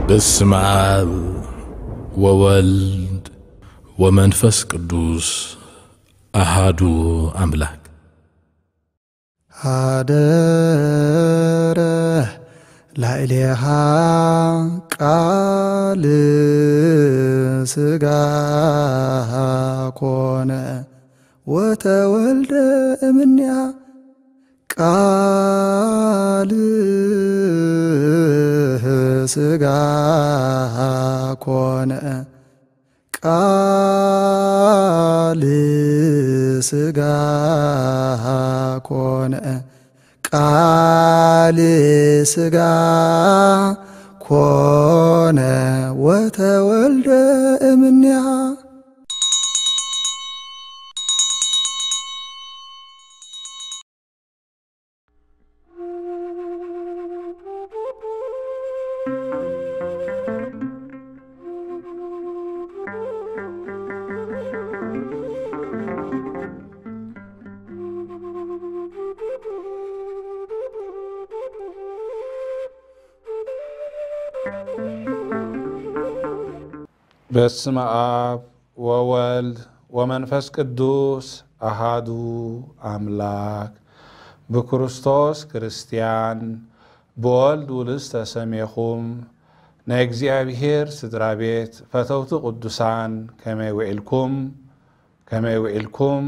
በስመ አብ ወወልድ ወመንፈስ ቅዱስ አሃዱ አምላክ። ሀደረ ላዕሌሃ ቃል ሥጋ ኮነ ወተወልደ እምኔሃ። ቃል ሥጋ ኮነ፣ ቃል ሥጋ ኮነ፣ ቃል ሥጋ ኮነ ወተወልደ እምኔሃ። በስመ አብ ወወልድ ወመንፈስ ቅዱስ አሃዱ አምላክ። ብክርስቶስ ክርስትያን፣ ብወልድ ውሉድ ዝተሰሜኹም፣ ናይ እግዚኣብሔር ስድራ ቤት፣ ፈተውቲ ቅዱሳን፣ ከመይ ውዒልኩም? ከመይ ውዒልኩም?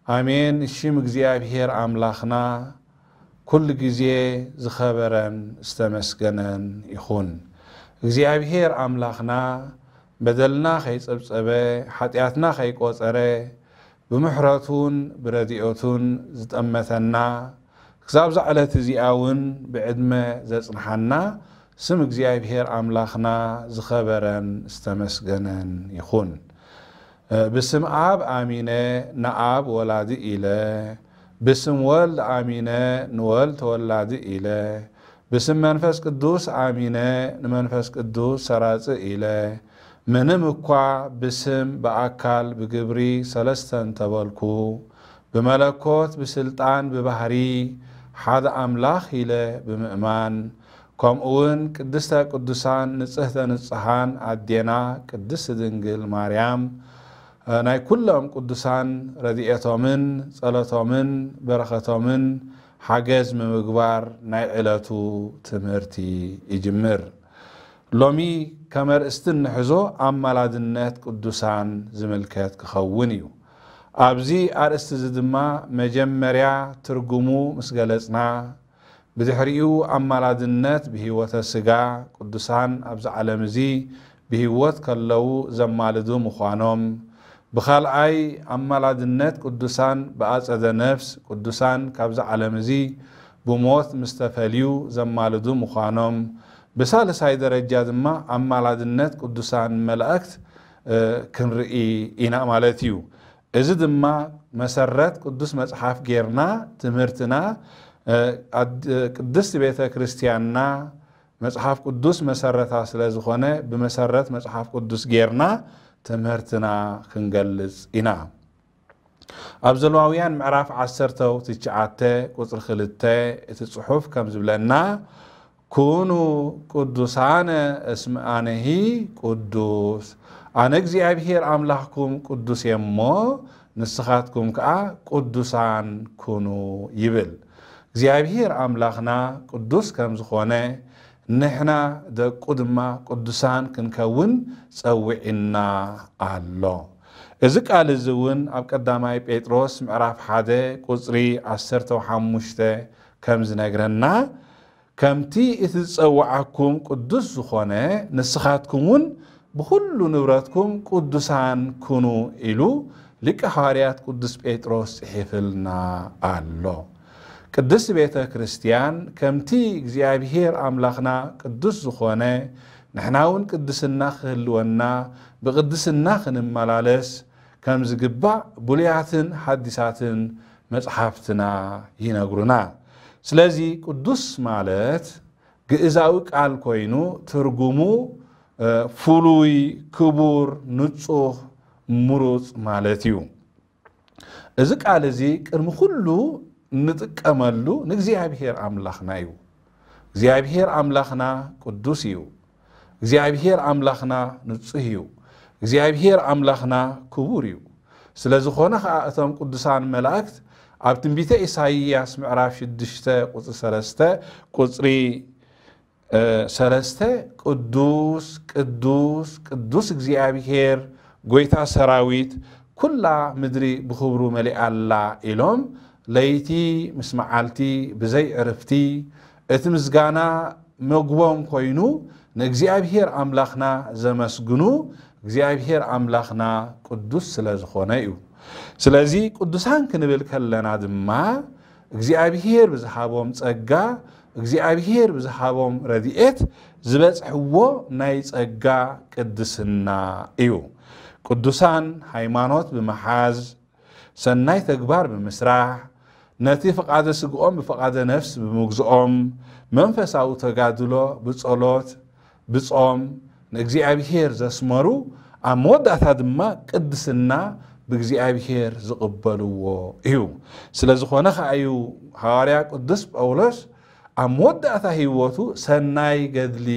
ኣሜን። ሽም እግዚኣብሔር ኣምላኽና ኩሉ ግዜ ዝኸበረን ዝተመስገነን ይኹን። እግዚኣብሔር ኣምላኽና በደልና ከይጸብጸበ፣ ሓጢኣትና ከይቆጸረ፣ ብምሕረቱን ብረድኤቱን ዝጠመተና፣ ክሳብ እዛ ዕለት እዚኣ እውን ብዕድመ ዘጽንሓና፣ ስም እግዚኣብሔር ኣምላኽና ዝኸበረን ዝተመስገነን ይኹን። ብስም ኣብ ኣሚነ ንኣብ ወላዲ ኢለ፣ ብስም ወልድ ኣሚነ ንወልድ ተወላዲ ኢለ፣ ብስም መንፈስ ቅዱስ ኣሚነ ንመንፈስ ቅዱስ ሰራጺ ኢለ፣ ምንም እኳ ብስም ብኣካል ብግብሪ ሰለስተ እንተበልኩ፣ ብመለኮት ብስልጣን ብባህሪ ሓደ ኣምላኽ ኢለ ብምእማን፣ ከምኡ እውን ቅድስተ ቅዱሳን ንጽህተ ንጹሃን ኣዴና ቅድስት ድንግል ማርያም፣ ናይ ኩሎም ቅዱሳን ረድኤቶምን ጸሎቶምን በረኸቶምን ሓገዝ ምምግባር ናይ ዕለቱ ትምህርቲ ይጅምር። ሎሚ ከም ኣርእስቲ እንሕዞ ኣማላድነት ቅዱሳን ዝምልከት ክኸውን እዩ። ኣብዚ ኣርእስቲ እዚ ድማ መጀመርያ ትርጉሙ ምስ ገለጽና፣ ብድሕሪኡ ኣማላድነት ብህይወተ ስጋ ቅዱሳን ኣብዚ ዓለም እዚ ብህይወት ከለዉ ዘማልዱ ምዃኖም፣ ብኻልኣይ ኣማላድነት ቅዱሳን ብኣጸደ ነፍስ ቅዱሳን ካብዚ ዓለም እዚ ብሞት ምስ ተፈልዩ ዘማልዱ ምዃኖም፣ ብሳልሳይ ደረጃ ድማ ኣማላድነት ቅዱሳን መላእክት፣ እ፣ ክንርኢ ኢና ማለት እዩ። እዚ ድማ መሰረት ቅዱስ መጽሓፍ ጌርና ትምህርትና፣ እ፣ ኣድ-፣ ቅድስት ቤተ ክርስቲያንና መጽሓፍ ቅዱስ መሰረታ ስለ ዝኾነ፣ ብመሰረት መጽሓፍ ቅዱስ ጌርና ትምህርትና ክንገልጽ ኢና። ኣብ ዘሌዋውያን ምዕራፍ ዓሰርተ ትሽዓተ ቁጽሪ ክልተ እቲ ጽሑፍ ከም ዝብለና፣ "ኩኑ ቅዱሳነ እስመ ኣነሂ ቅዱስ፣ ኣነ እግዚኣብሔር ኣምላኽኩም ቅዱስ እየ እሞ፣ ንስኻትኩም ከኣ ቅዱሳን ኩኑ" ይብል። እግዚኣብሔር ኣምላኽና ቅዱስ ከም ዝኾነ፣ ንሕና ደቁ ድማ ቅዱሳን ክንከውን ጸዊዕና ኣሎ። እዚ ቃል እዚ እውን ኣብ ቀዳማይ ጴጥሮስ ምዕራፍ ሓደ ቁጽሪ ዓሰርተ ሓሙሽተ ከም ዝነግረና፣ "ከምቲ እቲ ዝጸውዓኩም ቅዱስ ዝኾነ፣ ንስኻትኩም እውን ብኹሉ ንብረትኩም ቅዱሳን ኩኑ" ኢሉ ሊቀ ሃዋርያት ቅዱስ ጴጥሮስ ጽሒፍልና ኣሎ። ቅድስት ቤተ ክርስቲያን ከምቲ እግዚኣብሔር ኣምላኽና ቅዱስ ዝኾነ፣ ንሕና እውን ቅድስና ክህልወና፣ ብቅድስና ክንመላለስ ከም ዝግባእ ብሉያትን ሓዲሳትን መጽሓፍትና ይነግሩና። ስለዚ ቅዱስ ማለት ግእዛዊ ቃል ኮይኑ፣ ትርጉሙ፣ እ፣ ፍሉይ፣ ክቡር፣ ንጹህ፣ ምሩጽ ማለት እዩ። እዚ ቃል እዚ ቅድሚ ኩሉ እንጥቀመሉ ንእግዚኣብሔር ኣምላኽና እዩ። እግዚኣብሔር ኣምላኽና ቅዱስ እዩ። እግዚኣብሔር ኣምላኽና ንጹህ እዩ። እግዚኣብሔር ኣምላኽና ክቡር እዩ። ስለ ዝኾነ ኸኣ እቶም ቅዱሳን መላእክት ኣብ ትንቢተ ኢሳይያስ ምዕራፍ ሽዱሽተ ቁጽሪ ሰለስተ ቁጽሪ እ፣ ሰለስተ ቅዱስ ቅዱስ ቅዱስ እግዚኣብሔር ጎይታ ሰራዊት ኩላ ምድሪ ብኽብሩ መሊኣ ኣላ ኢሎም ለይቲ ምስ መዓልቲ ብዘይ ዕርፍቲ እቲ ምስጋና መግቦም ኮይኑ ንእግዚኣብሔር ኣምላኽና ዘመስግኑ እግዚኣብሔር ኣምላኽና ቅዱስ ስለ ዝኾነ እዩ። ስለዚ ቅዱሳን ክንብል ከለና ድማ እግዚኣብሔር ብዝሃቦም ጸጋ እግዚኣብሔር ብዝሃቦም ረድኤት ዝበጽሕዎ ናይ ጸጋ ቅድስና እዩ። ቅዱሳን ሃይማኖት ብምሓዝ ሰናይ ተግባር ብምስራሕ ነቲ ፍቓደ ስግኦም ብፍቓደ ነፍስ ብምግዝኦም መንፈሳዊ ተጋድሎ ብጸሎት ብጾም ንእግዚኣብሔር ዘስመሩ ኣብ መወዳእታ ድማ ቅድስና ብእግዚኣብሔር ዝቕበልዎ እዩ። ስለ ዝኾነ ኸዓ እዩ ሃዋርያ ቅዱስ ጳውሎስ ኣብ መወዳእታ ህይወቱ ሰናይ ገድሊ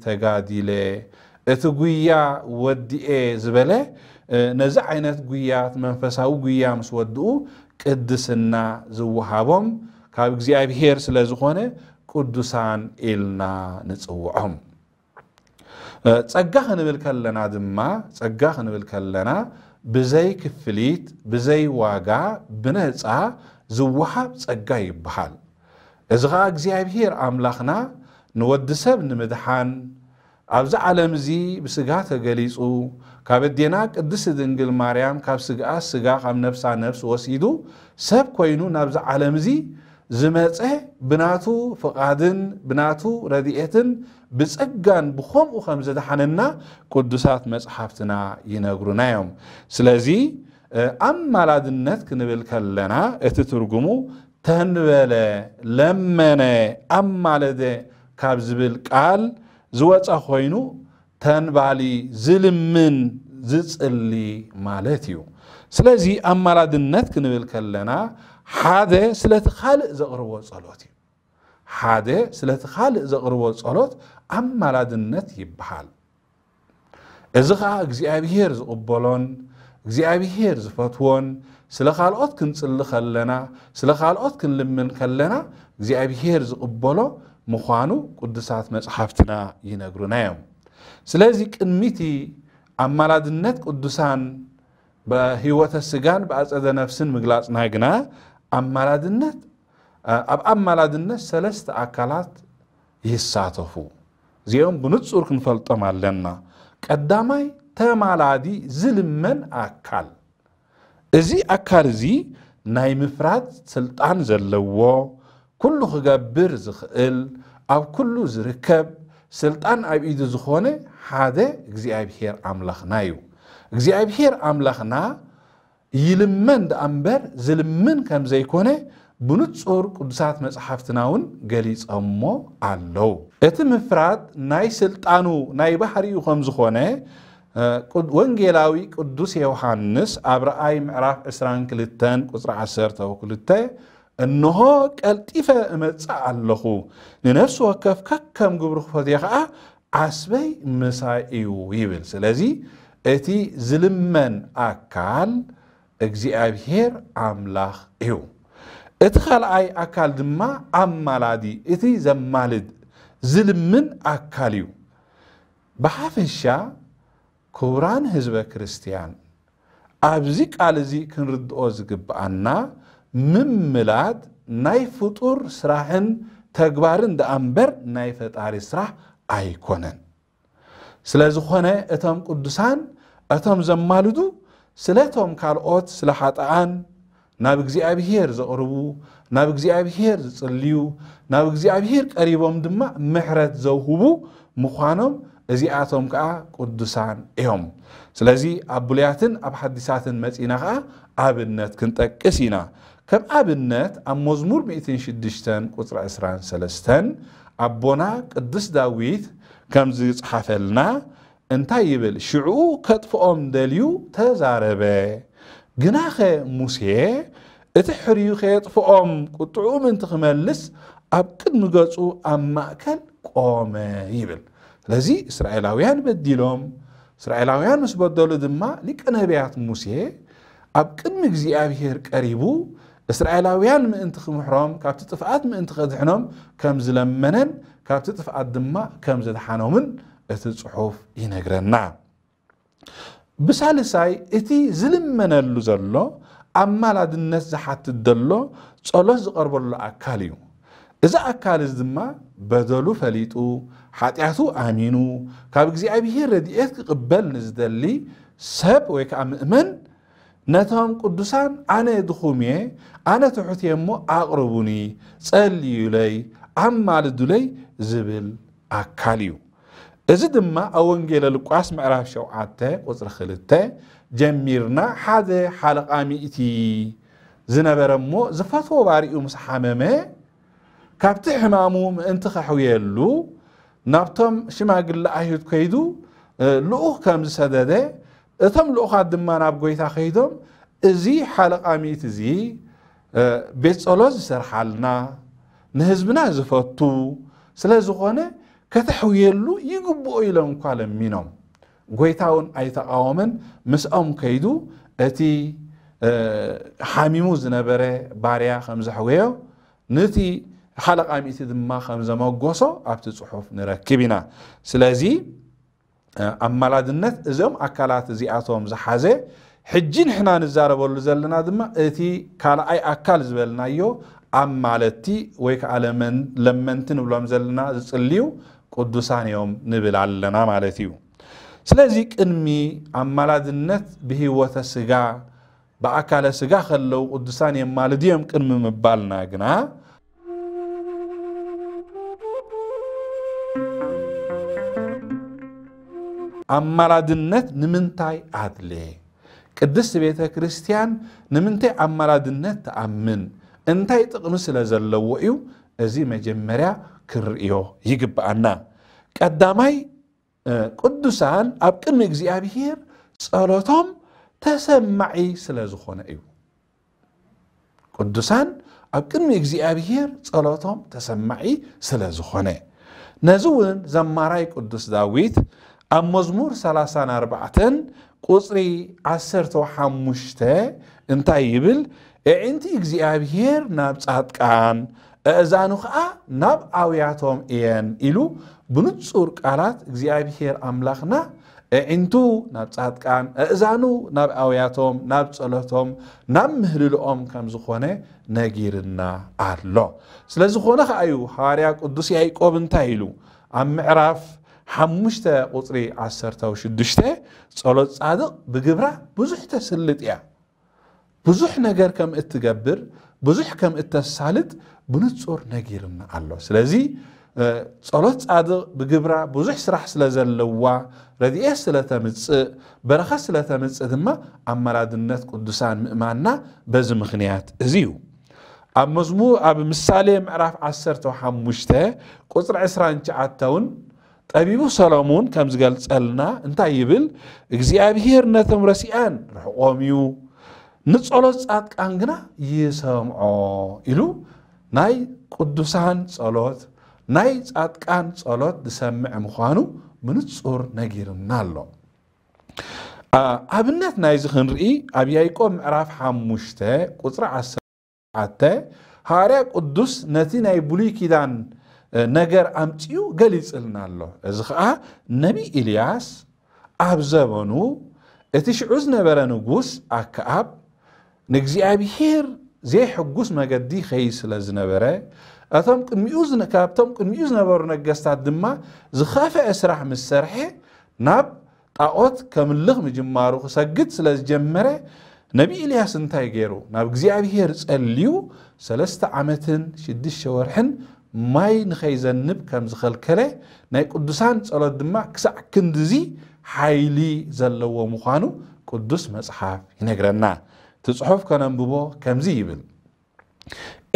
ተጋዲለ እቲ ጉያ ወዲኤ ዝበለ ነዚ ዓይነት ጉያ መንፈሳዊ ጉያ ምስ ወድኡ ቅድስና ዝወሃቦም ካብ እግዚኣብሔር ስለ ዝኾነ ቅዱሳን ኢልና ንጽውዖም። ጸጋ ክንብል ከለና ድማ ጸጋ ክንብል ከለና ብዘይ ክፍሊት ብዘይ ዋጋ ብነጻ ዝወሃብ ጸጋ ይበሃል። እዚ ኸዓ እግዚኣብሔር ኣምላኽና ንወዲ ሰብ ንምድሓን ኣብዚ ዓለም እዚ ብስጋ ተገሊጹ ካብ ኣዴና ቅድስቲ ድንግል ማርያም ካብ ስግኣ ስጋ ካብ ነፍሳ ነፍስ ወሲዱ ሰብ ኮይኑ ናብዚ ዓለም እዚ ዝመጸ ብናቱ ፍቓድን ብናቱ ረድኤትን ብጸጋን ብኸምኡ ከም ዘድሓነና ቅዱሳት መጽሓፍትና ይነግሩና እዮም። ስለዚ ኣማላድነት ክንብል ከለና እቲ ትርጉሙ ተንበለ ለመነ ኣማለደ ካብ ዝብል ቃል ዝወጸ ኮይኑ ተንባሊ ዝልምን ዝጽሊ ማለት እዩ። ስለዚ ኣማላድነት ክንብል ከለና ሓደ ስለቲ ካልእ ዘቕርቦ ጸሎት እዩ። ሓደ ስለቲ ካልእ ዘቕርቦ ጸሎት ኣማላድነት ይበሃል። እዚ ኸዓ እግዚኣብሔር ዝቕበሎን እግዚኣብሔር ዝፈትዎን ስለ ካልኦት ክንጽሊ ከለና ስለ ካልኦት ክንልምን ከለና እግዚኣብሔር ዝቕበሎ ምዃኑ ቅዱሳት መጽሓፍትና ይነግሩና እዮም። ስለዚ ቅድሚቲ ኣማላድነት ቅዱሳን ብህይወተ ስጋን ብኣጸደ ነፍስን ምግላጽና ግና ኣማላድነት ኣብ ኣማላድነት ሰለስተ ኣካላት ይሳተፉ። እዚኦም ብንጹር ክንፈልጦም ኣለና። ቀዳማይ ተማላዲ ዝልመን ኣካል። እዚ ኣካል እዚ ናይ ምፍራድ ስልጣን ዘለዎ ኩሉ ክገብር ዝኽእል ኣብ ኩሉ ዝርከብ ስልጣን ኣብ ኢዱ ዝኾነ ሓደ እግዚኣብሔር ኣምላኽና እዩ። እግዚኣብሔር ኣምላኽና ይልመን ደኣ እምበር ዝልምን ከም ዘይኮነ ብንጹር ቅዱሳት መጽሓፍትና እውን ገሊጸሞ ኣለዉ። እቲ ምፍራድ ናይ ስልጣኑ ናይ ባህሪኡ ከም ዝኾነ ወንጌላዊ ቅዱስ ዮሃንስ ኣብ ረኣይ ምዕራፍ ዕስራን ክልተን ቁጽሪ ዓሰርተ ወክልተ እንሆ ቀልጢፈ እመጽእ ኣለኹ፣ ንነፍሲ ወከፍ ከከም ግብሩ ክፈትዮ ኸዓ ዓስበይ ምሳይ እዩ ይብል። ስለዚ እቲ ዝልመን ኣካል እግዚኣብሔር ኣምላኽ እዩ። እቲ ካልኣይ ኣካል ድማ ኣማላዲ፣ እቲ ዘማልድ ዝልምን ኣካል እዩ። ብሓፈሻ ክቡራን ህዝበ ክርስትያን፣ ኣብዚ ቃል እዚ ክንርድኦ ዝግብኣና ምምላድ ናይ ፍጡር ስራሕን ተግባርን ደኣ እምበር ናይ ፈጣሪ ስራሕ ኣይኮነን። ስለ ዝኾነ እቶም ቅዱሳን እቶም ዘማልዱ ስለቶም ካልኦት ስለ ሓጥኣን ናብ እግዚኣብሔር ዘቕርቡ ናብ እግዚኣብሔር ዝጽልዩ ናብ እግዚኣብሔር ቀሪቦም ድማ ምሕረት ዘውህቡ ምዃኖም እዚኣቶም ከኣ ቅዱሳን እዮም። ስለዚ ኣብ ብሉያትን ኣብ ሓዲሳትን መጺና ከኣ ኣብነት ክንጠቅስ ኢና። ከም ኣብነት ኣብ መዝሙር ሚእትን ሽዱሽተን ቁጽሪ ዕስራን ሰለስተን ኣቦና ቅዱስ ዳዊት ከም ዝጽሓፈልና እንታይ ይብል? ሽዑ ከጥፍኦም ደልዩ ተዛረበ። ግናኸ ሙሴ እቲ ሕርዩ ከየጥፍኦም ቁጥዑ ምእንቲ ክመልስ ኣብ ቅድሚ ገጹ ኣብ ማእከል ቆመ ይብል። ስለዚ እስራኤላውያን በዲሎም፣ እስራኤላውያን ምስ በደሉ ድማ ሊቀ ነቢያት ሙሴ ኣብ ቅድሚ እግዚኣብሔር ቀሪቡ እስራኤላውያን ምእንቲ ክምሕሮም፣ ካብቲ ጥፍኣት ምእንቲ ከድሕኖም ከም ዝለመነን ካብቲ ጥፍኣት ድማ ከም ዘድሓኖምን እቲ ጽሑፍ ይነግረና። ብሳልሳይ፣ እቲ ዝልመነሉ ዘሎ ኣማላድነት ዝሓትት ዘሎ ጸሎት ዝቐርበሉ ኣካል እዩ። እዚ ኣካል እዚ ድማ በደሉ ፈሊጡ፣ ሓጢኣቱ ኣሚኑ፣ ካብ እግዚኣብሔር ረድኤት ክቕበል ንዝደሊ ሰብ ወይ ከዓ ምእመን፣ ነቶም ቅዱሳን ኣነ ድኹም እየ፣ ኣነ ትሑት እየ እሞ ኣቕርቡኒ፣ ጸልዩለይ፣ ኣማልዱለይ ዝብል ኣካል እዩ። እዚ ድማ ኣብ ወንጌለ ሉቃስ ምዕራፍ ሸውዓተ ቁጽሪ ክልተ ጀሚርና፣ ሓደ ሓለቓ ሚእቲ ዝነበረ እሞ ዝፈትዎ ባሪኡ ምስ ሓመመ፣ ካብቲ ሕማሙ ምእንቲ ከሕውየሉ ናብቶም ሽማግለ ኣይሁድ ከይዱ፣ እ፣ ልኡኽ ከም ዝሰደደ፣ እቶም ልኡኻት ድማ ናብ ጎይታ ከይዶም፣ እዚ ሓለቓ ሚእቲ እዚ፣ እ፣ ቤት ጸሎት ዝሰርሓልና፣ ንህዝብና ዝፈቱ ስለ ዝኾነ ከተሕውየሉ ይግብኦ ኢሎም እኳ ለሚኖም። ጎይታ እውን ኣይተቓወመን፣ ምስኦም ከይዱ እቲ፣ እ፣ ሓሚሙ ዝነበረ ባርያ ከም ዘሕወዮ፣ ነቲ ሓለቓ ሚእቲ ድማ ከም ዘመጎሶ ኣብቲ ጽሑፍ ንረክብ ኢና። ስለዚ፣ እ፣ ኣማላድነት እዞም ኣካላት እዚኣቶም ዝሓዘ፣ ሕጂ ንሕና ንዛረበሉ ዘለና ድማ እቲ ካልኣይ ኣካል ዝበልናዮ ኣማለድቲ ወይ ከዓ ለመን-፣ ለመንቲ ንብሎም ዘለና ዝጽልዩ ቅዱሳን እዮም ንብል ኣለና ማለት እዩ። ስለዚ ቅድሚ ኣማላድነት ብህይወተ ስጋ፣ ብኣካለ ስጋ ከለዉ ቅዱሳን የማልዱ እዮም ቅድሚ ምባልና ግና፣ ኣማላድነት ንምንታይ ኣድለ? ቅድስት ቤተ ክርስቲያን ንምንታይ ኣማላድነት ትኣምን? እንታይ ጥቕሚ ስለ ዘለዎ እዩ? እዚ መጀመርያ ክንርእዮ ይግብኣና። ቀዳማይ፣ እ፣ ቅዱሳን ኣብ ቅድሚ እግዚኣብሔር ጸሎቶም ተሰማዒ ስለ ዝኾነ እዩ። ቅዱሳን ኣብ ቅድሚ እግዚኣብሔር ጸሎቶም ተሰማዒ ስለ ዝኾነ። ነዚ እውን ዘማራይ ቅዱስ ዳዊት ኣብ መዝሙር ሰላሳን ኣርባዕተን ቁጽሪ ዓሰርተ ሓሙሽተ እንታይ ይብል? "ኣዒንቲ እግዚኣብሔር ናብ ጻድቃን፣ ኣእዛኑ ኸኣ ናብ ኣውያቶም እየን" ኢሉ ብንጹር ቃላት እግዚኣብሔር ኣምላኽና ኣዒንቱ ናብ ጻድቃን፣ ኣእዛኑ ናብ ኣውያቶም፣ ናብ ጸሎቶም፣ ናብ ምህልልኦም ከም ዝኾነ ነጊርና ኣሎ። ስለ ዝኾነ ኸኣ እዩ ሃዋርያ ቅዱስ ያዕቆብ እንታይ ኢሉ ኣብ ምዕራፍ ሓሙሽተ ቁጽሪ ዓሰርተ ሽዱሽተ፣ "ጸሎት ጻድቕ ብግብራ ብዙሕ ተስልጥ እያ" ብዙሕ ነገር ከም እትገብር፣ ብዙሕ ከም እተሳልጥ ብንጹር ነጊርና ኣሎ። ስለዚ፣ እ፣ ጸሎት ጻድቕ ብግብራ ብዙሕ ስራሕ ስለ ዘለዋ፣ ረድኤት ስለ ተምጽእ፣ በረኸት ስለ ተምጽእ ድማ ኣማላድነት ቅዱሳን ምእማንና በዚ ምኽንያት እዚ እዩ። ኣብ መዝሙር፣ ኣብ ምሳሌ ምዕራፍ ዓሰርተ ሓሙሽተ ቁጽሪ ዕስራን ትሽዓተን እውን ጠቢቡ ሰሎሞን ከም ዝገልጸልና እንታይ ይብል? "እግዚኣብሔር ነቶም ረሲኣን ርሕቖም እዩ፣ ንጸሎት ጻድቃን ግና ይሰምዖ" ኢሉ ናይ ቅዱሳን ጸሎት፣ ናይ ጻድቃን ጸሎት ዝሰምዕ ምዃኑ ብንጹር ነጊርና ኣሎ። ኣ-፣ ኣብነት ናይዚ ክንርኢ ኣብ ያዕቆብ ምዕራፍ ሓሙሽተ ቁጽሪ ዓሰርተ ሓሙሽተ፣ ሃዋርያ ቅዱስ ነቲ ናይ ብሉይ ኪዳን፣ እ፣ ነገር ኣምጺኡ ገሊጽልና ኣሎ። እዚ ኸኣ ነቢ ኢልያስ ኣብ ዘበኑ እቲ ሽዑ ዝነበረ ንጉስ ኣከኣብ ንእግዚኣብሔር ዘይሕጉስ መገዲ ይኸይድ ስለ ዝነበረ፣ እቶም ቅድሚኡ ዝነ-፣ ካብቶም ቅድሚኡ ዝነበሩ ነገስታት ድማ ዝኸፍአ ስራሕ ምስ ሰርሐ፣ ናብ ጣዖት ከምልኽ ምጅማሩ ክሰግድ ስለ ዝጀመረ፣ ነቢ ኢልያስ እንታይ ገይሩ? ናብ እግዚኣብሔር ጸልዩ፣ ሰለስተ ዓመትን ሽዱሽተ ወርሕን ማይ ንኸይዘንብ ከም ዝኸልከለ፣ ናይ ቅዱሳን ጸሎት ድማ ክሳዕ ክንድዚ ሓይሊ ዘለዎ ምዃኑ ቅዱስ መጽሓፍ ይነግረና። እቲ ጽሑፍ ከነንብቦ ከምዚ ይብል።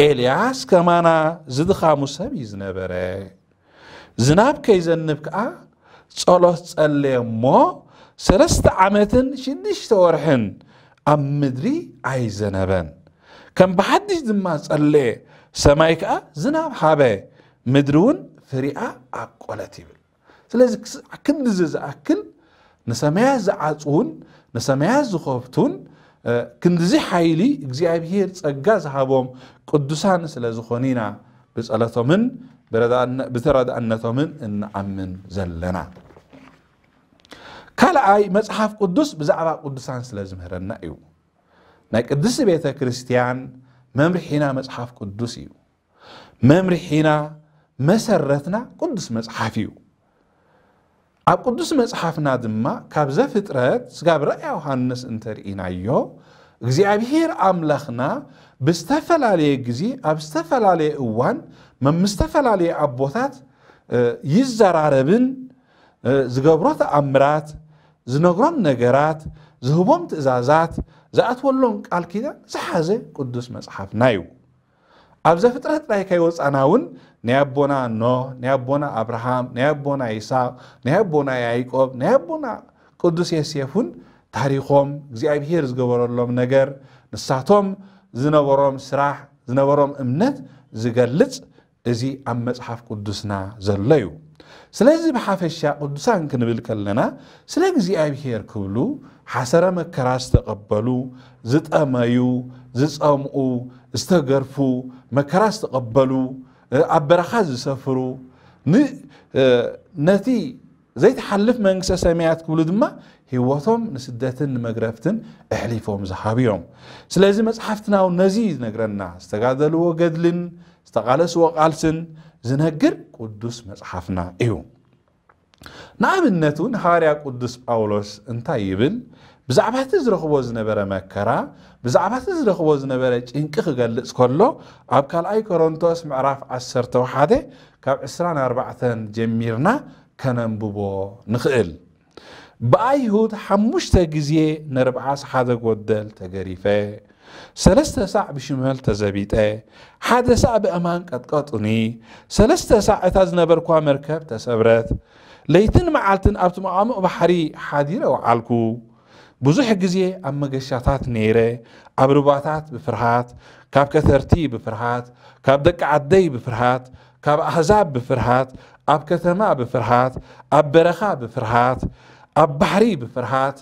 ኤልያስ ከማና ዝድኻሙ ሰብ እዩ ዝነበረ። ዝናብ ከይዘንብ ከኣ ጸሎት ጸለየ እሞ፣ ሰለስተ ዓመትን ሽዱሽተ ወርሕን ኣብ ምድሪ ኣይዘነበን። ከም ብሓድሽ ድማ ጸለየ፣ ሰማይ ከኣ ዝናብ ሃበ፣ ምድሪ እውን ፍሪኣ ኣብቆለት ይብል። ስለዚ ክስ-፣ ክንድዚ ዝኣክል ንሰማያት ዝዓጽዉን ንሰማያት ዝኸፍቱን፣ እ፣ ክንድዚ ሓይሊ እግዚኣብሔር ጸጋ ዝሃቦም ቅዱሳን ስለ ዝኾኑ ኢና ብጸሎቶምን ብረዳእነ-፣ ብተረዳእነቶምን እንኣምን ዘለና። ካልኣይ፣ መጽሓፍ ቅዱስ ብዛዕባ ቅዱሳን ስለ ዝምህረና እዩ። ናይ ቅድስቲ ቤተ ክርስቲያን መምርሒና መጽሓፍ ቅዱስ እዩ። መምርሒና፣ መሰረትና ቅዱስ መጽሓፍ እዩ። ኣብ ቅዱስ መጽሓፍና ድማ ካብ ዘፍጥረት ስጋብ ራእየ ዮሃንስ እንተርኢናዮ፣ እግዚኣብሔር ኣምላኽና ብዝተፈላለየ ግዜ፣ ኣብ ዝተፈላለየ እዋን፣ መ-፣ ምስ ዝተፈላለየ ኣቦታት፣ እ፣ ይዘራረብን፣ እ፣ ዝገብሮ ተኣምራት፣ ዝነግሮም ነገራት፣ ዝህቦም ትእዛዛት፣ ዝኣትወሎም ቃል ኪዳን ዝሓዘ ቅዱስ መጽሓፍና እዩ። ኣብ ዘፍጥረት ጥራይ ከይወጻና እውን ናይ ኣቦና ኖህ፣ ናይ ኣቦና ኣብርሃም፣ ናይ ኣቦና ይስሐቅ፣ ናይ ኣቦና ያዕቆብ፣ ናይ ኣቦና ቅዱስ ዮሴፍ እውን ታሪኾም፣ እግዚኣብሔር ዝገበረሎም ነገር፣ ንሳቶም ዝነበሮም ስራሕ፣ ዝነበሮም እምነት ዝገልጽ እዚ ኣብ መጽሓፍ ቅዱስና ዘሎ እዩ። ስለዚ ብሓፈሻ ቅዱሳን ክንብል ከለና ስለ እግዚኣብሔር ክብሉ ሓሰረ መከራ ዝተቐበሉ፣ ዝጠመዩ፣ ዝጸምኡ፣ ዝተገርፉ፣ መከራ ዝተቐበሉ፣ እ፣ ኣብ በረኻ ዝሰፍሩ፣ ን-፣ እ፣ ነቲ ዘይትሓልፍ መንግስተ ሰማያት ክብሉ ድማ ህይወቶም ንስደትን ንመግረፍትን ኣሕሊፎም ዝሃቡ እዮም። ስለዚ መጽሓፍትና እውን ነዚ ይነግረና። ዝተጋደልዎ ገድልን ዝተቓለስዎ ቃልስን ዝነግር ቅዱስ መጽሓፍና እዩ። ንኣብነት እውን ሃዋርያ ቅዱስ ጳውሎስ እንታይ ይብል? ብዛዕባ እቲ ዝረኽቦ ዝነበረ መከራ፣ ብዛዕባ እቲ ዝረኽቦ ዝነበረ ጭንቂ ክገልጽ ከሎ፣ ኣብ ካልኣይ ቆሮንቶስ ምዕራፍ ዓሰርተ ሓደ ካብ ዕስራን ኣርባዕተን ጀሚርና ከነንብቦ ንኽእል። ብኣይሁድ ሓሙሽተ ግዜ ነርብዓስ ሓደ ጎደል ተገሪፈ፣ ሰለስተ ሳዕ ብሽመል ተዘቢጠ፣ ሓደ ሳዕ ብኣእማን ቀጥቀጡኒ፣ ሰለስተ ሳዕ እታ ዝነበርኳ መርከብ ተሰብረት። ለይትን መዓልትን ኣብቲ መቓምቕ ባሕሪ ሓዲረ ወዓልኩ። ብዙሕ ግዜ ኣብ መገሻታት ነይረ፣ ኣብ ሩባታት ብፍርሃት፣ ካብ ከተርቲ ብፍርሃት፣ ካብ ደቂ ዓደይ ብፍርሃት፣ ካብ ኣህዛብ ብፍርሃት፣ ኣብ ከተማ ብፍርሃት፣ ኣብ በረኻ ብፍርሃት፣ ኣብ ባሕሪ ብፍርሃት፣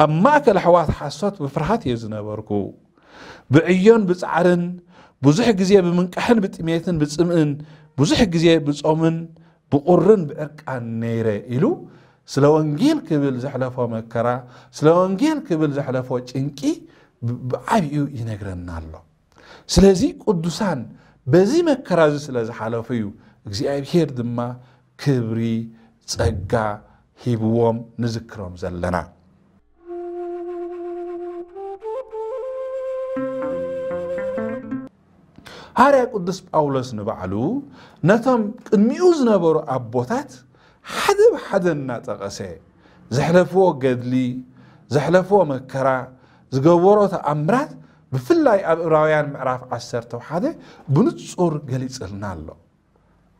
ኣብ ማእከል ኣሕዋት ሓሶት ብፍርሃት እየ ዝነበርኩ። ብዕዮን ብጻዕርን፣ ብዙሕ ግዜ ብምንቃሕን ብጥሜትን ብጽምእን፣ ብዙሕ ግዜ ብጾምን ብቑርን ብዕርቃን ነይረ ኢሉ ስለ ወንጌል ክብል ዘሕለፎ መከራ፣ ስለ ወንጌል ክብል ዘሕለፎ ጭንቂ ብ-፣ ብዓቢኡ ይነግረና ኣሎ። ስለዚ ቅዱሳን በዚ መከራ እዚ ስለ ዝሓለፉ እዩ እግዚኣብሔር ድማ ክብሪ፣ ጸጋ ሂብዎም ንዝክሮም ዘለና። ሃዋርያ ቅዱስ ጳውሎስ ንባዕሉ ነቶም ቅድሚኡ ዝነበሩ ኣቦታት ሓደ ብሓደ እናጠቐሰ ዘሕለፍዎ ገድሊ፣ ዘሕለፍዎ መከራ፣ ዝገበሮ ተኣምራት ብፍላይ ኣብ ዕብራውያን ምዕራፍ ዓሰርተ ሓደ ብንጹር ገሊጽልና ኣሎ።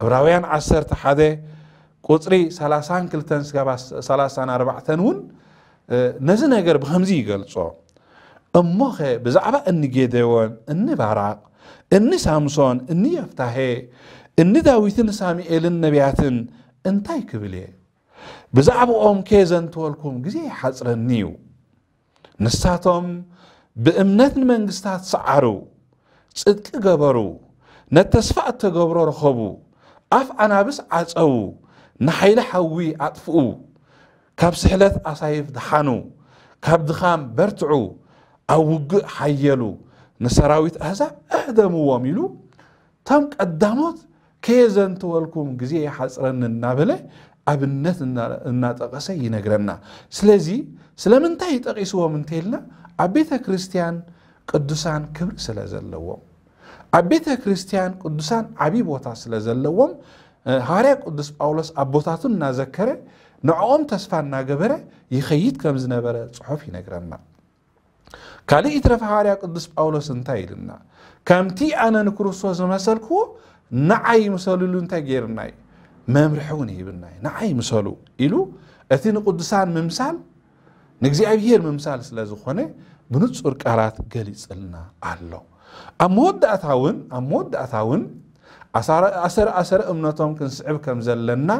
ዕብራውያን ዓሰርተ ሓደ ቁጽሪ ሰላሳን ክልተን ስጋብ ሰላሳን ኣርባዕተን እውን፣ እ፣ ነዚ ነገር ብኸምዚ ይገልጾ። እሞኸ ብዛዕባ እኒ ጌዴዎን፣ እኒ ባራቅ፣ እኒ ሳምሶን፣ እኒ ዮፍታሄ፣ እኒ ዳዊትን ሳሙኤልን ነቢያትን እንታይ ክብል እየ? ብዛዕባኦም ከየዘንተወልኩም ግዜ ይሓጽረኒ እዩ። ንሳቶም ብእምነት ንመንግስታት ሰዓሩ፣ ጽድቂ ገበሩ፣ ነቲ ተስፋ እተገብሮ ረኸቡ፣ ኣፍ ኣናብስ ዓጸዉ፣ ንሓይሊ ሓዊ ኣጥፍኡ፣ ካብ ስሕለት ኣሳይፍ ደሓኑ፣ ካብ ድኻም በርትዑ፣ ኣብ ውግእ ሓየሉ፣ ንሰራዊት ኣህዛብ ኣህደምዎም ኢሉ፣ እቶም ቀዳሞት ከየዘንትወልኩም ግዜ ይሓጽረኒ እናበለ ኣብነት እና-፣ እናጠቐሰ ይነግረና። ስለዚ ስለምንታይ ጠቒስዎም እንተኢልና፣ ኣብ ቤተ ክርስቲያን ቅዱሳን ክብሪ ስለ ዘለዎም፣ ኣብ ቤተ ክርስቲያን ቅዱሳን ዓቢ ቦታ ስለ ዘለዎም፣ እ፣ ሃዋርያ ቅዱስ ጳውሎስ ኣቦታቱ እናዘከረ ንዕኦም ተስፋ እናገበረ ይኸይድ ከም ዝነበረ ጽሑፍ ይነግረና። ካልእ ይትረፍ ሃዋርያ ቅዱስ ጳውሎስ እንታይ ኢልና? ከምቲ ኣነ ንክርስቶስ ዝመሰልክዎ ንዓይ ምሰሉ ኢሉ እንታይ ገይርና እዩ? መምርሒ እውን ይህብና እዩ። ንዓይ ምሰሉ ኢሉ እቲ ንቅዱሳን ምምሳል ንእግዚኣብሔር ምምሳል ስለ ዝኾነ ብንጹር ቃላት ገሊጽልና ኣሎ። ኣብ መወዳእታ እውን፣ ኣብ መወዳእታ እውን ኣሳረ-፣ ኣሰረ ኣሰረ እምነቶም ክንስዕብ ከም ዘለና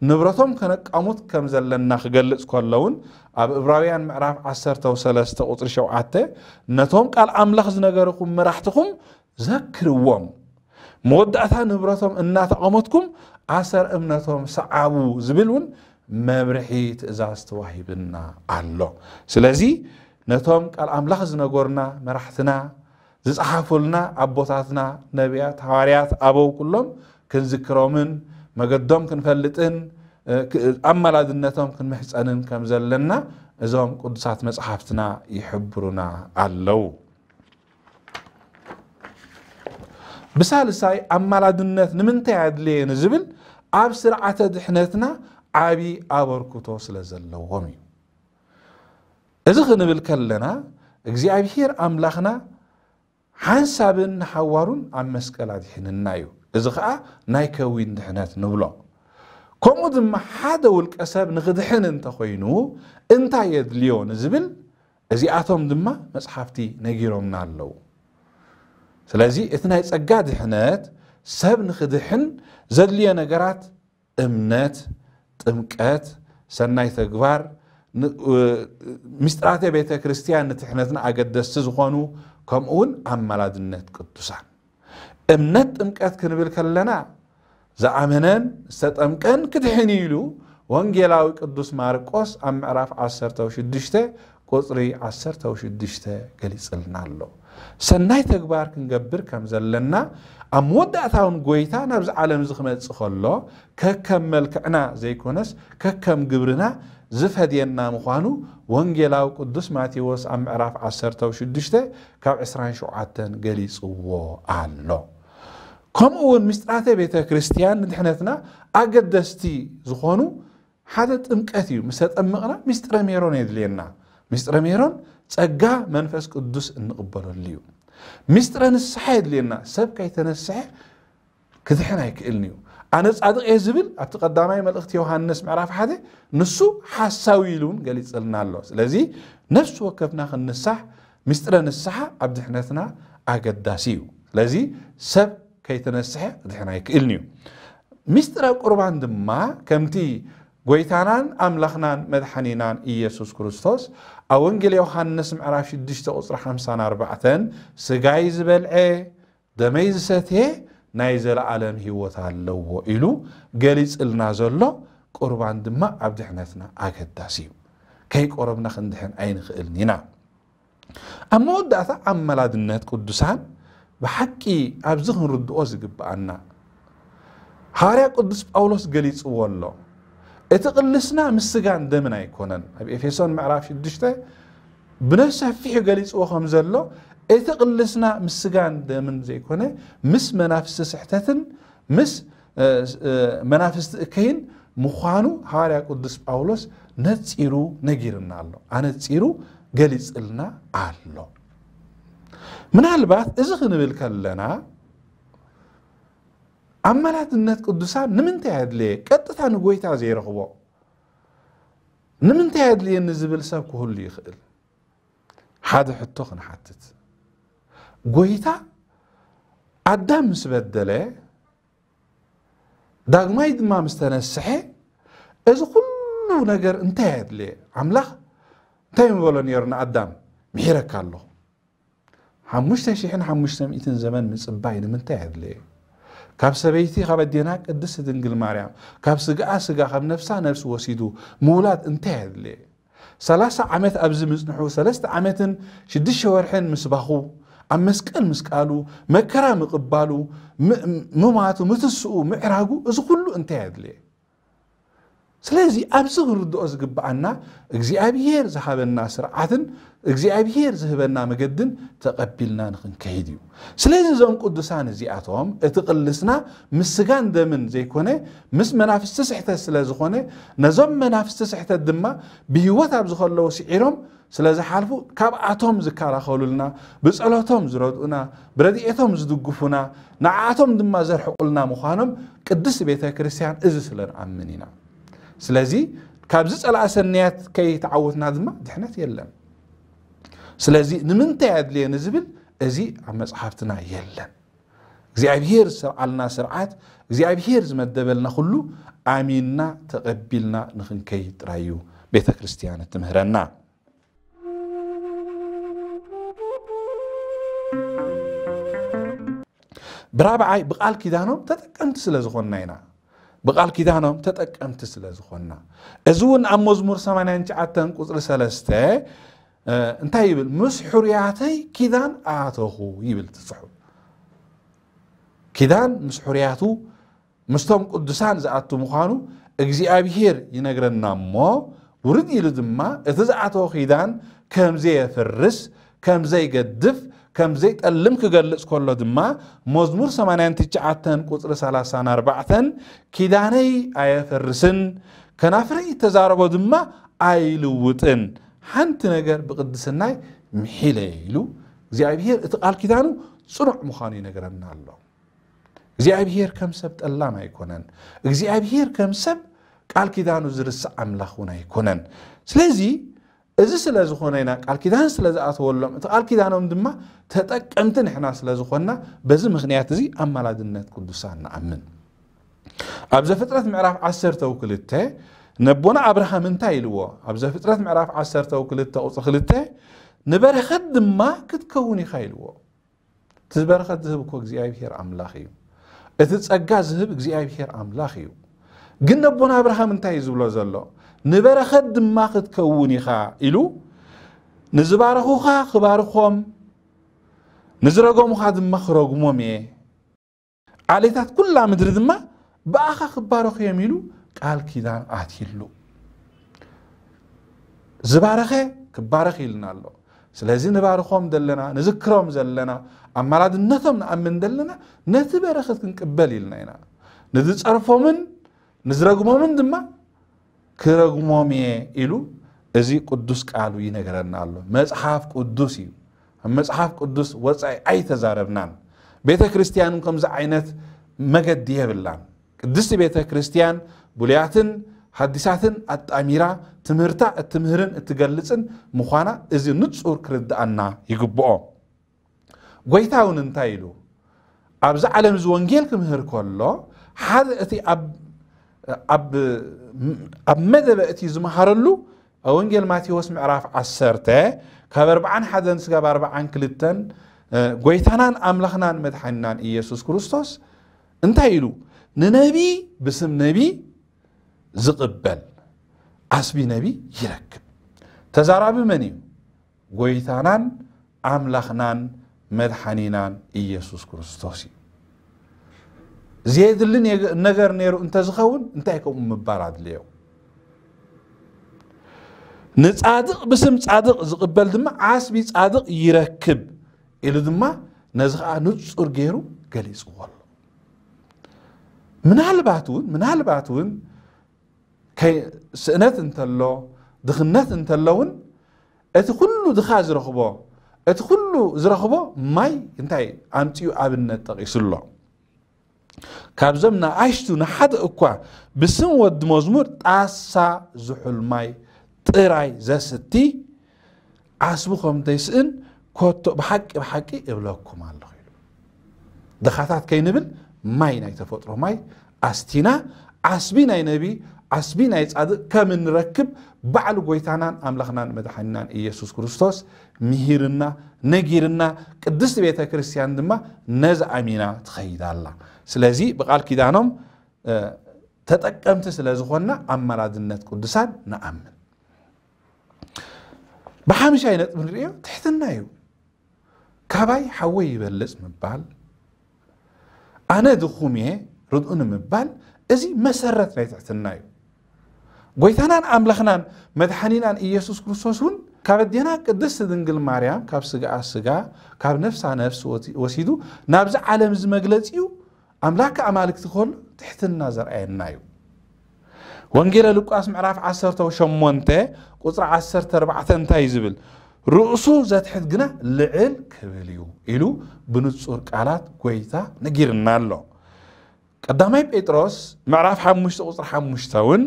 ንብረቶም ከነቃሙት ከም ዘለና ክገልጽ ከሎ እውን ኣብ ዕብራውያን ምዕራፍ ዓሰርተ ሰለስተ ቁጽሪ ሸውዓተ ነቶም ቃል ኣምላኽ ዝነገርኩም መራሕትኹም ዘክርዎም፣ መወዳእታ ንብረቶም እናተቐመትኩም ኣሰር እምነቶም ሰዓቡ ዝብል እውን መብርሒ ትእዛዝ ተዋሂብና ኣሎ። ስለዚ ነቶም ቃል ኣምላኽ ዝነገሩና መራሕትና ዝጸሓፉልና ኣቦታትና ነቢያት፣ ሃዋርያት፣ ኣበው ኩሎም ክንዝክሮምን መገዶም ክንፈልጥን ኣማላድነቶም ክንምሕጸንን ከም ዘለና እዞም ቅዱሳት መጽሓፍትና ይሕብሩና ኣለዉ። ብሳልሳይ ኣማላድነት ንምንታይ ኣድለየ ንዝብል ኣብ ስርዓተ ድሕነትና ዓቢ ኣበርክቶ ስለ ዘለዎም እዩ። እዚ ክንብል ከለና እግዚኣብሔር ኣምላኽና ሓንሳብን ንሓዋሩን ኣብ መስቀል ኣድሒንና እዩ። እዚ ኸኣ ናይ ከዊን ድሕነት ንብሎ። ከምኡ ድማ ሓደ ውልቀ ሰብ ንኽድሕን እንተኾይኑ እንታይ የድልዮ ንዝብል እዚኣቶም ድማ መጽሓፍቲ ነጊሮምና ኣለዉ። ስለዚ እቲ ናይ ጸጋ ድሕነት ሰብ ንኽድሕን ዘድልዮ ነገራት እምነት፣ ጥምቀት፣ ሰናይ ተግባር፣ ምስጢራተ ቤተ ክርስቲያን ንድሕነትና ኣገደስቲ ዝኾኑ ከምኡ እውን ኣማላድነት ቅዱሳን። እምነት ጥምቀት ክንብል ከለና ዝኣመነን ዝተጠምቀን ክድሕን ኢሉ ወንጌላዊ ቅዱስ ማርቆስ ኣብ ምዕራፍ ዓሰርተ ሽዱሽተ ቁጽሪ ዓሰርተ ሽዱሽተ ገሊጽልና ኣሎ። ሰናይ ተግባር ክንገብር ከም ዘለና ኣብ መወዳእታውን ጎይታ ናብዚ ዓለም እዚ ክመጽእ ከሎ ከከም መልክዕና ዘይኮነስ ከከም ግብርና ዝፈድየና ምዃኑ ወንጌላዊ ቅዱስ ማቴዎስ ኣብ ምዕራፍ ዓሰርተ ሽዱሽተ ካብ ዕስራን ሸውዓተን ገሊጽዎ ኣሎ። ከምኡ እውን ምስጢራተ ቤተ ክርስቲያን ንድሕነትና ኣገደስቲ ዝኾኑ ሓደ ጥምቀት እዩ። ምስ ተጠመቕና ምስጢረ ሜሮን የድልየና። ምስጢረ ሜሮን ጸጋ መንፈስ ቅዱስ እንቕበለሉ እዩ። ምስጢረ ንስሓ የድልየና። ሰብ ከይተነስሐ ክድሕን ኣይክእልን እዩ። ኣነ ጻድቕ እየ ዝብል ኣብቲ ቀዳማይ መልእኽቲ ዮሃንስ ምዕራፍ ሓደ ንሱ ሓሳዊ ኢሉ እውን ገሊጽልና ኣሎ። ስለዚ ነፍሲ ወከፍና ክንንሳሕ ምስጢረ ንስሓ ኣብ ድሕነትና ኣገዳሲ እዩ። ስለዚ ሰብ ከይተነስሐ ክድሕን ኣይክእልን እዩ። ምስጢረ ቁርባን ድማ ከምቲ ጎይታናን ኣምላኽናን መድሓኒናን ኢየሱስ ክርስቶስ ኣብ ወንጌል ዮሃንስ ምዕራፍ ሽዱሽተ ቁጽሪ ሓምሳን ኣርባዕተን ስጋይ ዝበልዐ ደመይ ዝሰትየ ናይ ዘለኣለም ህይወት ኣለዎ ኢሉ ገሊጽልና ዘሎ ቁርባን ድማ ኣብ ድሕነትና ኣገዳሲ እዩ። ከይቆረብና ክንድሕን ኣይንኽእልን ኢና። ኣብ መወዳእታ ኣመላድነት ቅዱሳን ብሓቂ ኣብዚ ክንርድኦ ዝግብኣና ሃዋርያ ቅዱስ ጳውሎስ ገሊጽዎ ኣሎ። እቲ ቅልስና ምስ ስጋን ደምን ኣይኮነን። ኣብ ኤፌሶን ምዕራፍ ሽዱሽተ ብነሰፊሑ ገሊጽዎ ከም ዘሎ እቲ ቅልስና ምስ ስጋን ደምን ዘይኮነ ምስ መናፍስቲ ስሕተትን ምስ መናፍስቲ እከይን ምዃኑ ሃዋርያ ቅዱስ ጳውሎስ ነጺሩ ነጊርና ኣሎ። ኣነጺሩ ገሊጽልና ኣሎ። ምናልባት እዚ ክንብል ከለና ኣመላድነት ቅዱሳን ንምንታይ ኣድለየ? ቀጥታ ንጎይታ ዘይረኽቦ ንምንታይ ኣድልየኒ ዝብል ሰብ ክህሉ ይኽእል። ሓደ ሕቶ ክንሓትት። ጎይታ ኣዳም ምስ በደለ ዳግማይ ድማ ምስ ተነስሐ እዚ ኩሉ ነገር እንታይ ኣድለየ? ኣምላኽ እንታይ ምበሎ ነይሩ ንኣዳም? ምሒረካ ኣለኹ። ሓሙሽተ ሽሕን ሓሙሽተ ሚእትን ዘመን ምጽባይ ንምንታይ ኣድለየ? ካብ ሰበይቲ ካብ ኣዴና ቅድስቲ ድንግል ማርያም ካብ ስጋኣ ስጋ ካብ ነፍሳ ነፍሲ ወሲዱ ምውላድ እንታይ ኣድለየ? ሰላሳ ዓመት ኣብዚ ምጽንሑ ሰለስተ ዓመትን ሽዱሽተ ወርሕን ምስባኹ ኣብ መስቀል ምስቃሉ መከራ ምቕባሉ ምማቱ ምትስኡ ምዕራጉ እዚ ኩሉ እንታይ ኣድለየ? ስለዚ ኣብዚ ክንርድኦ ዝግብኣና እግዚኣብሄር ዝሃበና ስርዓትን እግዚኣብሄር ዝህበና መገድን ተቐቢልና ንኽንከይድ እዩ። ስለዚ እዞም ቅዱሳን እዚኣቶም እቲ ቅልስና ምስ ስጋን ደምን ዘይኮነ ምስ መናፍስቲ ስሕተት ስለ ዝኾነ ነዞም መናፍስቲ ስሕተት ድማ ብህይወት ኣብ ዝኸለዉ ስዒሮም ስለ ዝሓልፉ ካብኣቶም ዝከላኸሉልና ብጸሎቶም ዝረድኡና ብረድኤቶም ዝድግፉና ንዓኣቶም ድማ ዘርሕቑልና ምዃኖም ቅድስቲ ቤተ ክርስቲያን እዚ ስለ ንኣምን ኢና። ስለዚ ካብዚ ጸላእ ሰናያት ከይተዓወትና ድማ ድሕነት የለን። ስለዚ ንምንታይ ኣድልየ ንዝብል እዚ ኣብ መጽሓፍትና የለን። እግዚኣብሄር ዝሰርዓልና ስርዓት እግዚኣብሄር ዝመደበልና ኩሉ ኣሚንና ተቐቢልና ንኽንከይድ ጥራይ እዩ ቤተ ክርስቲያን እትምህረና። ብራብዓይ፣ ብቓል ኪዳኖም ተጠቀምቲ ስለ ዝኾንና ኢና። ብቓል ኪዳኖም ተጠቀምቲ ስለ ዝኾንና። እዚ እውን ኣብ መዝሙር ሰማንያን ትሽዓተን ቁጽሪ ሰለስተ፣ እ፣ እንታይ ይብል? "ምስ ሕሩያተይ ኪዳን ኣተኹ" ይብል እቲ ጽሑፍ። ኪዳን ምስ ሕሩያቱ፣ ምስቶም ቅዱሳን ዝኣቱ ምዃኑ እግዚኣብሄር ይነግረና እሞ፣ ውርድ ኢሉ ድማ እቲ ዝኣተወ ኪዳን ከም ዘየፍርስ፣ ከም ዘይገድፍ፣ ከም ዘይጠልም ክገልጽ ከሎ ድማ፣ መዝሙር ሰማንያን ትሽዓተን ቁጽሪ ሰላሳን ኣርባዕተን፣ "ኪዳነይ ኣየፈርስን፣ ከናፍረይ እተዛረቦ ድማ ኣይልውጥን፣ ሓንቲ ነገር ብቅድስናይ ምሒለ" ኢሉ እግዚኣብሄር እቲ ቃል ኪዳኑ ጽኑዕ ምዃኑ ይነግረና ኣሎ። እግዚኣብሄር ከም ሰብ ጠላም ኣይኮነን። እግዚኣብሄር ከም ሰብ ቃል ኪዳኑ ዝርስዕ ኣምላኽ እውን ኣይኮነን። ስለዚ እዚ ስለ ዝኾነ ኢና፣ ቃል ኪዳን ስለ ዝኣተወሎም፣ እቲ ቃል ኪዳኖም ድማ ተጠቀምቲ ንሕና ስለ ዝኾንና፣ በዚ ምኽንያት እዚ ኣማላድነት ቅዱሳን ንኣምን። ኣብ ዘፍጥረት ምዕራፍ ዓሰርተ ክልተ ነቦና ኣብርሃም እንታይ ኢልዎ? ኣብ ዘፍጥረት ምዕራፍ ዓሰርተ ክልተ ቁጽሪ ክልተ፣ "ንበረኸት ድማ ክትከውን ኢኻ" ኢልዎ። እቲ በረኸት ዝህብ እኮ እግዚኣብሄር ኣምላኽ እዩ። እቲ ጸጋ ዝህብ እግዚኣብሄር ኣምላኽ እዩ። ግን ነቦና ኣብርሃም እንታይ እዩ ዝብሎ ዘሎ? "ንበረኸት ድማ ክትከውን ኢኻ" ኢሉ፣ "ንዝባረኹኻ ክባርኾም፣ ንዝረገሙኻ ድማ ክረግሞም እየ። ዓሌታት ኩላ ምድሪ ድማ ብኣኻ ክባረኹ እዮም" ኢሉ ቃል ኪዳን ኣትይሉ። ዝባረኸ ክባረኽ ኢልና ኣሎ። ስለዚ ንባርኾም ዘለና፣ ንዝክሮም ዘለና፣ ኣማላድነቶም ንኣምን ዘለና፣ ነቲ በረኸት ክንቅበል ኢልና ኢና። ንዝጸርፎምን ንዝረግሞምን ድማ ክረግሞም እየ ኢሉ እዚ ቅዱስ ቃሉ ይነግረና ኣሎ። መጽሓፍ ቅዱስ እዩ። ኣብ መጽሓፍ ቅዱስ ወጻኢ ኣይተዛረብናን። ቤተ ክርስቲያን እውን ከምዚ ዓይነት መገዲ የብላን። ቅድስቲ ቤተ ክርስቲያን ብሉያትን ሓዲሳትን ኣጣሚራ ትምህርታ እትምህርን እትገልጽን ምዃና እዚ ንጹር ክርድኣና ይግብኦ። ጎይታ እውን እንታይ ኢሉ? ኣብዚ ዓለም እዚ ወንጌል ክምህር ከሎ፣ ሓደ እቲ ኣብ፣ ኣብ፣ ኣብ መደበ እቲ ዝመሃረሉ፣ ኣብ ወንጌል ማቴዎስ ምዕራፍ ዓሰርተ፣ ካብ ኣርብዓን ሓደን ስጋብ ኣርብዓን ክልተን፣ እ፣ ጎይታናን ኣምላኽናን መድሓኒናን ኢየሱስ ክርስቶስ እንታይ ኢሉ? "ንነቢ ብስም ነቢ ዝቕበል ዓስቢ ነቢ ይረክብ።" ተዛራቢ መን እዩ? ጎይታናን ኣምላኽናን መድሓኒናን ኢየሱስ ክርስቶስ እዩ። ዘየድሊ ኔገ-፣ ነገር ነይሩ እንተዝኸውን፣ እንታይ ከምኡ ምባል ኣድለዮ? "ንጻድቕ ብስም ጻድቕ ዝቕበል ድማ ዓስቢ ጻድቕ ይረክብ" ኢሉ ድማ ነዚ ኸኣ ንጹር ገይሩ ገሊጽዎ ኣሎ። ምናልባት እውን፣ ምናልባት እውን ከይ-፣ ስእነት እንተሎ፣ ድኽነት እንተሎ እውን፣ እቲ ኩሉ ድኻ ዝረኽቦ፣ እቲ ኩሉ ዝረኽቦ ማይ እንታይ ኣምጺኡ ኣብነት ጠቒሱ ኣሎ። "ካብዞም ንኣሽቱ ንሓደ እኳ ብስም ወዲ መዝሙር ጣሳ ዝሑል ማይ ጥራይ ዘስቲ ዓስቡ ከም ዘይስእን ኮቶ ብሓቂ ብሓቂ እብለኩም ኣለኹ" ኢሉ። ድኻታት ከይንብል ማይ፣ ናይ ተፈጥሮ ማይ ኣስቲና፣ ዓስቢ ናይ ነቢ፣ ዓስቢ ናይ ጻድቕ ከም እንረክብ ባዕሉ ጎይታናን ኣምላኽናን መድሓኒናን ኢየሱስ ክርስቶስ ምሂርና፣ ነጊርና፣ ቅድስቲ ቤተ ክርስቲያን ድማ ነዚ ኣሚና ትኸይድ ኣላ። ስለዚ ብቓል ኪዳኖም፣ እ፣ ተጠቀምቲ ስለ ዝኾንና ኣማላድነት ቅዱሳን ንኣምን። ብሓምሻይ ነጥቢ ንርእዮ ትሕትና እዩ። "ካባይ ሓወይ ይበልጽ" ምባል፣ "ኣነ ድኹም እየ ርድኡኒ" ምባል፣ እዚ መሰረት ናይ ትሕትና እዩ። ጎይታናን ኣምላኽናን መድሓኒናን ኢየሱስ ክርስቶስ እውን ካብ ኣዴና ቅድስቲ ድንግል ማርያም ካብ ስጋኣ ስጋ፣ ካብ ነፍሳ ነፍሲ ወቲ-፣ ወሲዱ ናብዚ ዓለም እዚ መግለጺኡ ኣምላክ ኣማልክቲ ከሎ ትሕትና ዘርኣየና እዩ። ወንጌለ ሉቃስ ምዕራፍ ዓሰርተ ሸሞንተ ቁጽሪ ዓሰርተ ኣርባዕተ እንታይ እዩ ዝብል? "ርእሱ ዘትሕት ግና ልዕል ክብል እዩ" ኢሉ ብንጹር ቃላት ጎይታ ነጊርና ኣሎ። ቀዳማይ ጴጥሮስ ምዕራፍ ሓሙሽተ ቁጽሪ ሓሙሽተ እውን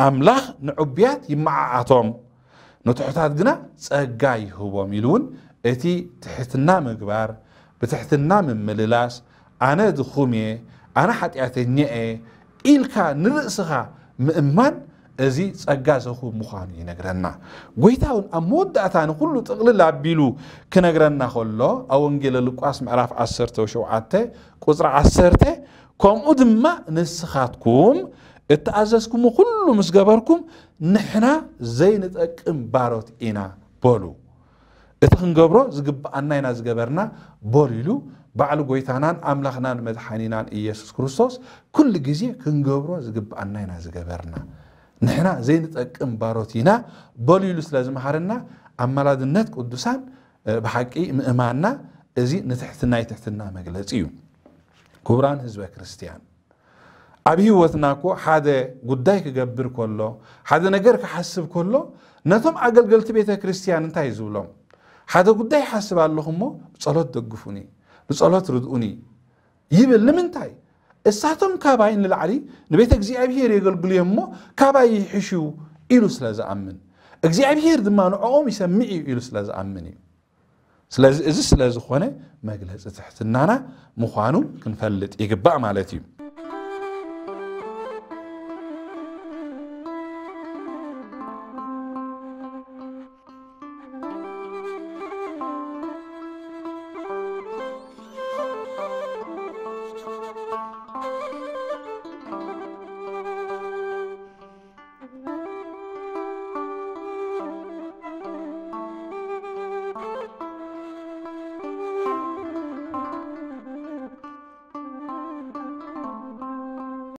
"ኣምላኽ ንዕቡያት ይመዓዓቶም፣ ንትሑታት ግና ጸጋ ይህቦም" ኢሉ እውን እቲ ትሕትና ምግባር፣ ብትሕትና ምምልላስ፣ "ኣነ ድኹም እየ፣ ኣነ ሓጢኣተኛ እየ፣ ኢልካ ንርእስኻ ምእማን፣ እዚ ጸጋ ዘኹብ ምዃኑ ይነግረና። ጎይታ እውን ኣብ መወዳእታ ንኹሉ ጥቕልል ኣቢሉ ክነግረና ከሎ፣ ኣብ ወንጌለ ሉቃስ ምዕራፍ ዓሰርተ ሸውዓተ ቁጽሪ ዓሰርተ፣ "ከምኡ ድማ ንስኻትኩም እተኣዘዝኩሞ ኩሉ ምስ ገበርኩም፣ ንሕና ዘይንጠቅም ባሮት ኢና" በሉ። እቲ ክንገብሮ ዝግብኣና ኢና ዝገበርና በሉ ኢሉ፣ ባዕሉ ጎይታናን ኣምላኽናን መድሓኒናን ኢየሱስ ክርስቶስ ኩሉ ግዜ ክንገብሮ ዝግብኣና ኢና ዝገበርና። ንሕና ዘይንጠቅም ባሮት ኢና በሉ ኢሉ ስለ ዝመሃረና፣ ኣማላድነት ቅዱሳን፣ እ፣ ብሓቂ ምእማንና እዚ ንትሕትና፣ ናይ ትሕትና መግለጺ እዩ። ክቡራን ህዝበ ክርስቲያን፣ ኣብ ህይወትና እኮ ሓደ ጉዳይ ክገብር ከሎ፣ ሓደ ነገር ክሓስብ ከሎ፣ ነቶም ኣገልገልቲ ቤተ ክርስቲያን እንታይ ዝብሎም? "ሓደ ጉዳይ ይሓስብ ኣለኹ እሞ፣ ብጸሎት ደግፉኒ፣ ብጸሎት ርድኡኒ" ይብል። ንምንታይ? እሳቶም ካባይ ንላዕሊ ንቤተ እግዚኣብሔር የገልግሉ እዮም እሞ፣ ካባይ ይሕሹ ኢሉ ስለ ዝኣምን፣ እግዚኣብሔር ድማ ንዕኦም ይሰምዕ እዩ ኢሉ ስለ ዝኣምን እዩ። ስለዚ፣ እዚ ስለ ዝኾነ፣ መግለጺ ትሕትናና ምዃኑ ክንፈልጥ ይግባእ ማለት እዩ።